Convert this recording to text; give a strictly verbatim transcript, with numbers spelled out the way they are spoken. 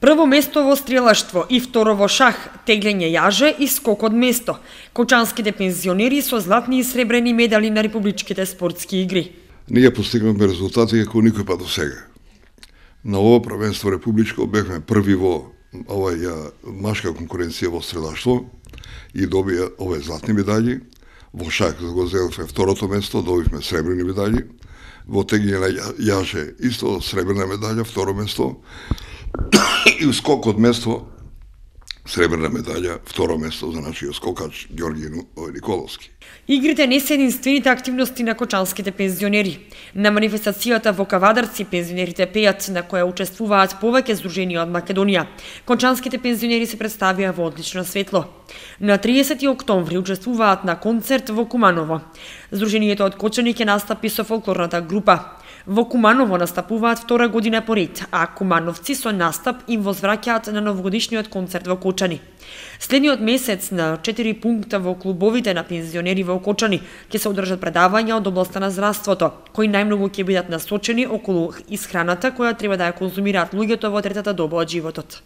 Прво место во стрелаштво и второ во шах, теглење јаже и скок од место. Кочанските пензионери со златни и сребрени медали на републичките спортски игри. Ние постигнавме резултати како никој па до сега. На ова првенство републичко бевме први во оваа машка конкуренција во стрелаштво и добија овие златни медали. Во шах го зедовме второто место, добивме сребрени медали. Во теглење на јаже исто сребрена медаља, второ место. И скок од место, сребрена медаља, второ место за нашиот скокач Ѓорги Николовски. Игрите не се единствените активности на кочанските пензионери. На манифестацијата во Кавадарци пензионерите пеат, на која учествуваат повеќе здруженија од Македонија. Кочанските пензионери се представија во одлично светло. На триесети октомври учествуваат на концерт во Куманово. Здруженијето од Кочани ќе настапи со фолклорната група. Во Куманово настапуваат втора година поред, а кумановци со настап им возвраќаат на новогодишниот концерт во Кочани. Следниот месец на четири пункта во клубовите на пензионери во Кочани ќе се одржат предавања од областа на здравството, кои најмногу ќе бидат насочени околу исхраната која треба да ја конзумираат луѓето во третата доба од животот.